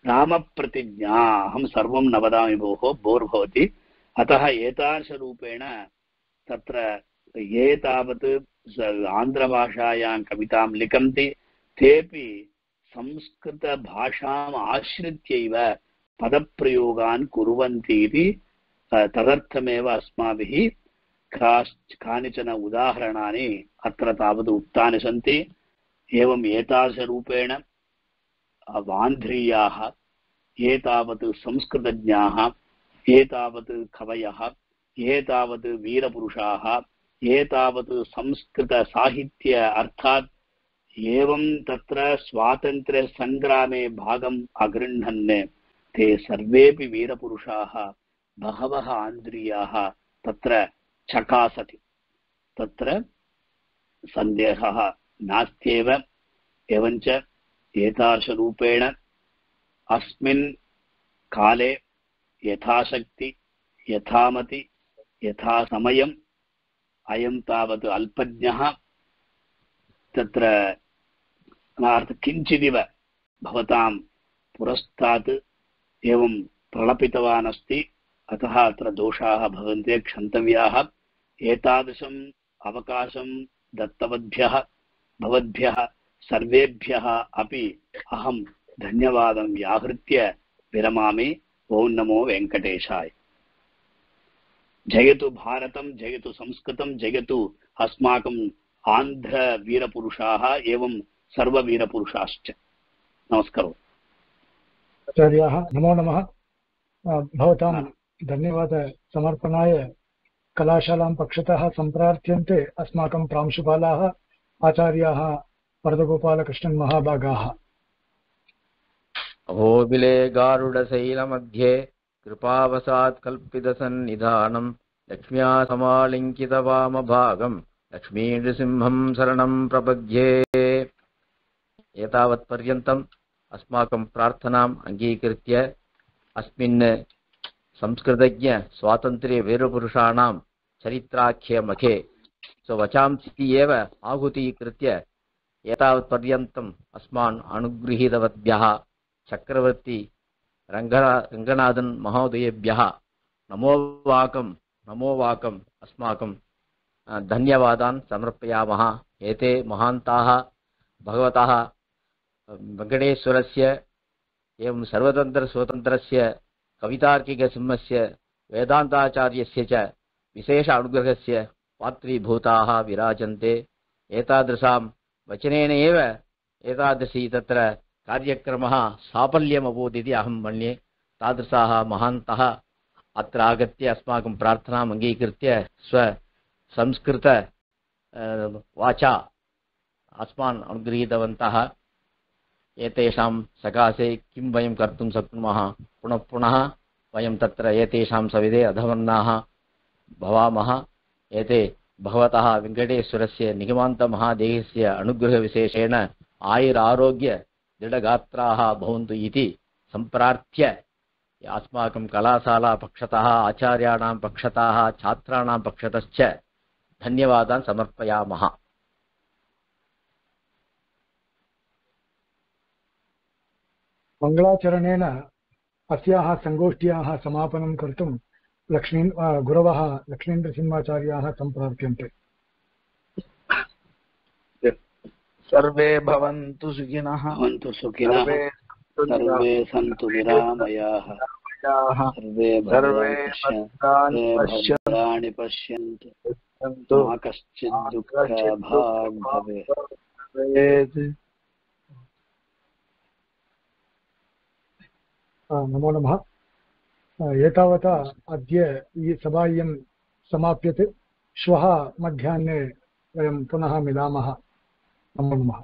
राम प्रतिज्ञा हम सर्वं न वदामि भोः बोर् भवति। अतः एतादृशरूपेण तत्र ये तावत् आन्ध्रभाषायां कवितां लिखन्ति तेपि संस्कृतभाषाम् आश्रित्यैव पदप्रयोगान् कुर्वन्ति इति तदर्थमेव अस्माभिः कानिचन उदाहरणानि अत्र तावत् उक्तानि सन्ति। एवम् एतादृशरूपेण आन्ध्रीयाः ये तावत् संस्कृतज्ञाः ये तावत् कवयः ये तावत् वीरपुरुषाः ये तावत् संस्कृतसाहित्य अर्थात् एवं तत्र स्वातन्त्र्यसङ्ग्रामे भागम् अगृह्णन् ते सर्वेपि वीरपुरुषाः बहवः आन्ध्रीयाः तत्र चकासति तत्र सन्देहः नास्त्येव। एवञ्च एतादृशरूपेण अस्मिन् काले यथाशक्ति यथामति यथा समयम् अयं तावत् अल्पज्ञः तत्र किञ्चिदिव भवतां पुरस्तात् एवं प्रलपितवान् अस्ति। अतः अत्र दोषाः भवन्ति क्षन्तव्याः। एतादृशम् अवकाशं दत्तवद्भ्यः भवद्भ्यः सर्वेभ्यः अपि अहं धन्यवादं व्याहृत्य विरमामि। ओं नमो वेङ्कटेशाय। जयतु भारतं जयतु संस्कृतं जयतु अस्माकम् आन्ध्रवीरपुरुषाः एवं सर्ववीरपुरुषाश्च। नमस्कारः आचार्याः नमो नमः। भवतां धन्यवाद समर्पणाय कलाशालां पक्षतः सम्प्रार्थ्यन्ते अस्माकं प्रांशुपालाः आचार्याः वरदगोपालकृष्णन् महाभागाः। अहोबिले गारुडशैलमध्ये कृपावसात् कल्पितसन्निधानं लक्ष्म्या समालिङ्कितवामभागं लक्ष्मीनृसिंहं शरणं प्रपद्ये। एतावत्पर्यन्तम् अस्माकं प्रार्थनाम् अङ्गीकृत्य अस्मिन् संस्कृतज्ञ स्वातन्त्र्य वीरपुरुषाणां चरित्राख्ये मखे स्ववचांसि एव आहुतीकृत्य एतावत्पर्यन्तम् अस्मान् अनुगृहीतवद्भ्यः चक्रवर्ती रङ्गना रङ्गनाथन् महोदयेभ्यः नमो वाकं नमो वाकम् अस्माकं धन्यवादान् समर्पयामः। एते महान्ताः भगवतः वेङ्कटेश्वरस्य एवं सर्वतन्त्रस्वतन्त्रस्य कवितार्किकसिंहस्य वेदान्ताचार्यस्य च विशेष अनुग्रहस्य पात्रीभूताः विराजन्ते। एतादृशां वचनेन एव एतादृशी तत्र कार्यक्रमः साफल्यमभूत् इति अहं मन्ये। तादृशाः महान्तः अत्र आगत्य अस्माकं प्रार्थनाम् अङ्गीकृत्य स्वसंस्कृत वाचा अस्मान् अनुगृहीतवन्तः। एतेषां सकाशे किं वयं कर्तुं शक्नुमः। पुनः पुनः वयं तत्र एतेषां सविधे अधमन्नाः भवामः। एते भगवतः वेङ्कटेश्वरस्य निगमान्तमहादेहस्य अनुग्रहविशेषेण आयुरारोग्य दृढगात्राः भवन्तु इति सम्प्रार्थ्य अस्माकं कलाशाला पक्षतः आचार्याणां पक्षतः छात्राणां पक्षतश्च धन्यवादान् समर्पयामः। मङ्गलाचरणेन अस्याः सङ्गोष्ठ्याः समापनं कर्तुं लक्ष्मी गुरवः लक्ष्मीन्द्रसिंहाचार्याः सम्प्रार्थ्यन्ते। सर्वे भवन्तु सुखिनः भवन्तु सुखिनः सर्वे सन्तु निरामयाः सर्वे भद्राणि पश्यन्तु मा कश्चित् दुःखभाग् भवेत्। नमो नमः। एतावता अद्य ई सभा इयं समाप्यते। श्वः मध्याह्ने वयं पुनः मिलामः। नमो नमः।